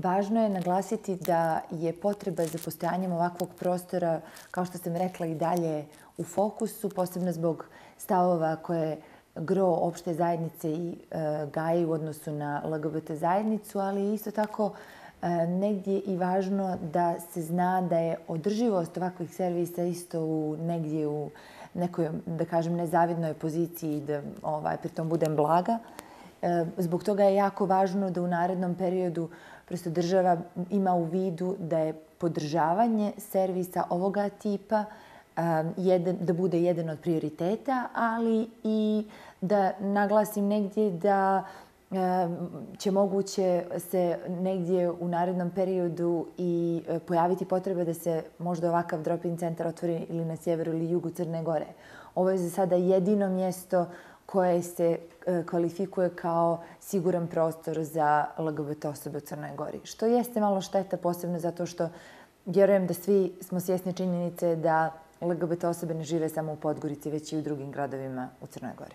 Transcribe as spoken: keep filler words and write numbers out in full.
Važno je naglasiti da je potreba za postojanjem ovakvog prostora, kao što sam rekla, i dalje u fokusu, posebno zbog stavova koje gro opšte zajednice i e, gaji u odnosu na L G B T zajednicu, ali isto tako e, negdje i važno da se zna da je održivost ovakvih servisa isto u, negdje u nekoj, da kažem, nezavidnoj poziciji, da ovaj, pritom budem blaga. E, zbog toga je jako važno da u narednom periodu prosto država ima u vidu da je podržavanje servisa ovoga tipa jedan, da bude jedan od prioriteta, ali i da naglasim negdje da će moguće se negdje u narednom periodu i pojaviti potreba da se možda ovakav drop-in centar otvori ili na sjeveru ili jugu Crne Gore. Ovo je za sada jedino mjesto koje se kvalifikuje kao siguran prostor za L G B T osobe u Crnoj Gori. Što jeste malo šteta, posebno zato što vjerujem da svi smo svjesni činjenice da L G B T osobe ne žive samo u Podgorici, već i u drugim gradovima u Crnoj Gori.